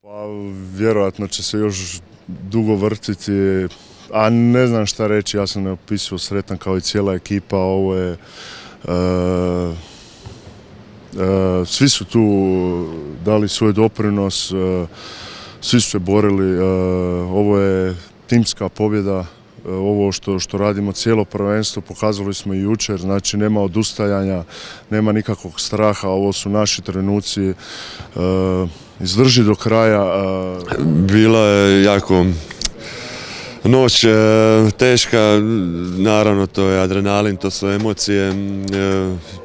Pa vjerojatno će se još dugo vrtiti, a ne znam šta reći, ja sam neopisivo sretan kao i cijela ekipa. Ovo je, svi su tu dali svoj doprinos, svi su se borili, ovo je timska pobjeda. Ovo što radimo cijelo prvenstvo pokazali smo i jučer, znači nema odustajanja, nema nikakvog straha, ovo su naši trenuci, izdrži do kraja. Bila je jako noć teška, naravno to je adrenalin, to su emocije,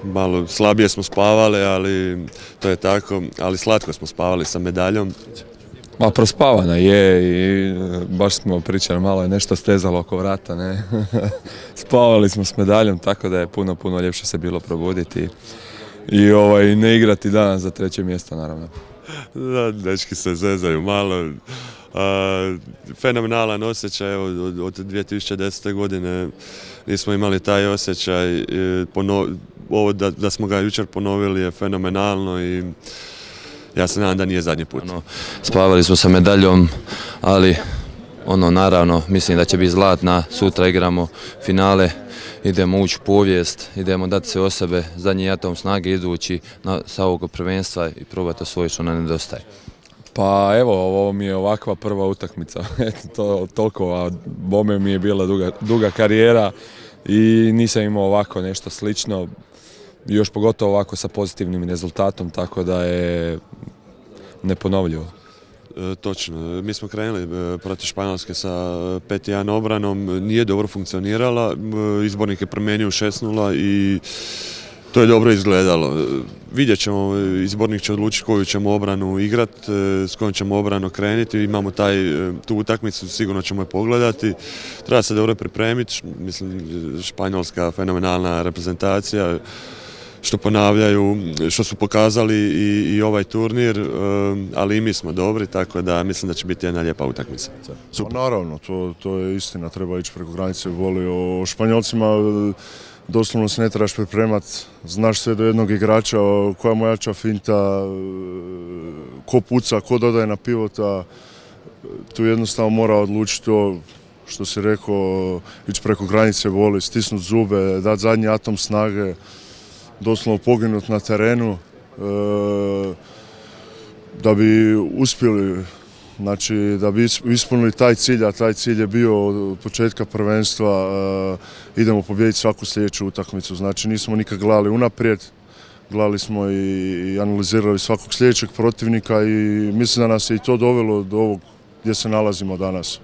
malo slabije smo spavali, ali to je tako, ali slatko smo spavali sa medaljom. Ma prospavana je i baš smo pričali, malo je nešto stezalo oko vrata, ne? Spavali smo s medaljom, tako da je puno ljepše se bilo probuditi i ne igrati danas za 3. mjesto, naravno. Da, dečki se zezaju malo. Fenomenalan osjećaj, evo, od 2010. godine nismo imali taj osjećaj, ovo da smo ga jučer ponovili je fenomenalno i ja se nadam da nije zadnji put. Spavali smo sa medaljom, ali naravno mislim da će biti zlatna, sutra igramo finale, idemo ući u povijest, idemo dati se o sebe, zadnji atom snage izvući sa ovog prvenstva i probati osvojiti što nam nedostaje. Pa evo, ovo mi je ovakva prva utakmica, eto toliko, a bome mi je bila duga karijera i nisam imao ovako nešto slično. Još pogotovo ovako sa pozitivnim rezultatom, tako da je neponovljivo. Točno, mi smo krenuli protiv Španjolske sa 5-1 obranom, nije dobro funkcionirala, izbornik je promijenio 6-0 i to je dobro izgledalo. Vidjet ćemo, izbornik će odlučiti koju ćemo obranu igrati, s kojom ćemo obranu krenuti, imamo tu utakmicu, sigurno ćemo je pogledati. Treba se dobro pripremiti, mislim, Španjolska fenomenalna reprezentacija, što ponavljaju, što su pokazali i ovaj turnir, ali i mi smo dobri, tako da mislim da će biti jedna lijepa utakmica. Naravno, to je istina, treba ići preko granice, voli o Španjolcima, doslovno se ne trebaš pripremati, znaš sve do jednog igrača, koja mu jača finta, ko puca, ko dodaje na pivota, tu jednostavno mora odlučiti to, što si rekao, ići preko granice, voli, stisnuti zube, dati zadnji atom snage, doslovno poginuti na terenu da bi uspjeli, znači da bi ispunili taj cilj, a taj cilj je bio od početka prvenstva, idemo pobijediti svaku sljedeću utakmicu, znači nismo nikad gledali unaprijed, gledali smo i analizirali svakog sljedećeg protivnika i mislim da nas je i to dovelo do ovog gdje se nalazimo danas.